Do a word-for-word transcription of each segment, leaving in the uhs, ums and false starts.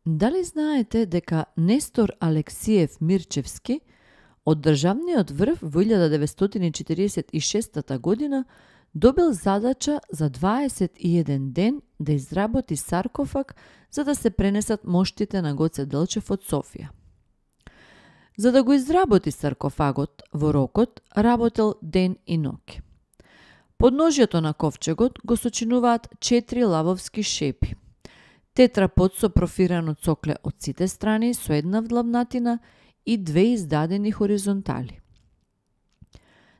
Дали знаете дека Нестор Алексиев Мирчевски од државниот врв во илјада деветстотини четиридесет и шеста година добил задача за дваесет и еден ден да изработи саркофаг за да се пренесат моштите на Гоце Делчев од Софија. За да го изработи саркофагот во рокот, работел ден и ноќ. Подножјето на ковчегот го сочинуваат четири лавовски шепи. Тетрапод со профирано цокле од сите страни со една вдлабнатина и две издадени хоризонтали.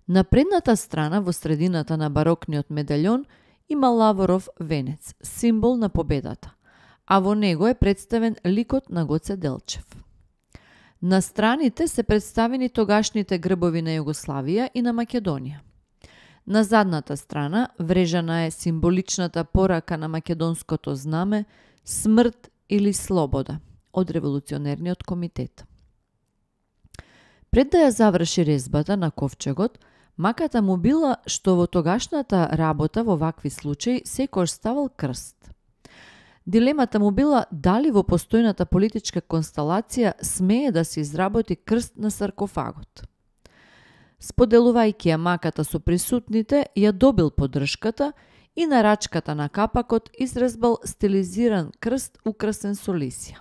На предната страна во средината на барокниот медаљон има лаворов венец, символ на победата, а во него е представен ликот на Гоце Делчев. На страните се представени тогашните грбови на Југославија и на Македонија. На задната страна врежана е символичната порака на македонското знаме смрт или слобода од револуционерниот комитет. Пред да ја заврши резбата на ковчегот, маката му била што во тогашната работа во вакви случаи секојаш ставал крст. Дилемата му била дали во постојната политичка констелација смее да се изработи крст на саркофагот. Споделувајќи ја маката со присутните, ја добил поддршката и на рачката на капакот изрезбал стилизиран крст украсен со лисја.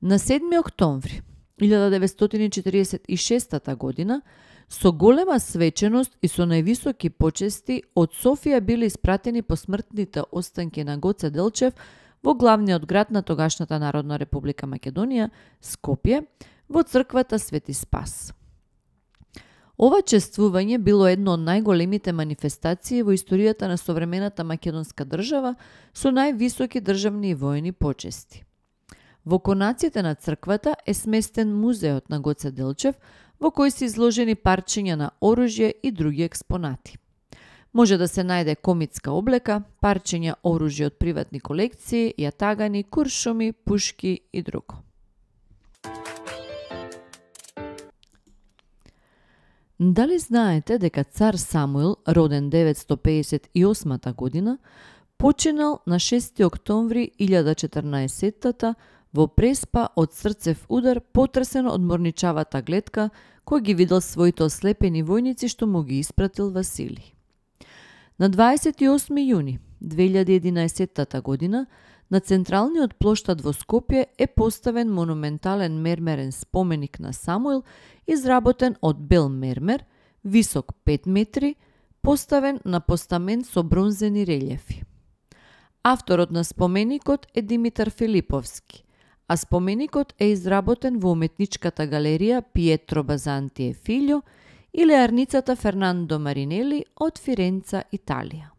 На седми октомври илјада деветстотини четиридесет и шеста година со голема свеченост и со највисоки почести од Софија биле испратени посмртните останки на Гоце Делчев во главниот град на тогашната Народна република Македонија, Скопје, во црквата Свети Спас. Ова чествување било едно од најголемите манифестации во историјата на современата македонска држава со највисоки државни и војни почести. Во конаците на црквата е сместен музеот на Гоце Делчев, во кој се изложени парчиња на оружје и други експонати. Може да се најде комитска облека, парчиња оружје од приватни колекции, јатагани, куршуми, пушки и друго. Дали знаете дека цар Самуил, роден деветстотини педесет и осма година, починал на шести октомври илјада четрнаесеттата во преспа од срцев удар, потресен од морничавата гледка кој ги видел своите ослепени војници што му ги испратил Василий. На дваесет и осми јуни две илјади и единаесетта година на централниот плоштад во Скопје е поставен монументален мермерен споменик на Самуил, изработен од бел мермер, висок пет метри, поставен на постамент со бронзени релјефи. Авторот на споменикот е Димитар Филиповски, а споменикот е изработен во уметничката галерија Пиетро Базанти e Figlio и леарницата Фернандо Маринели од Фиренца, Италија.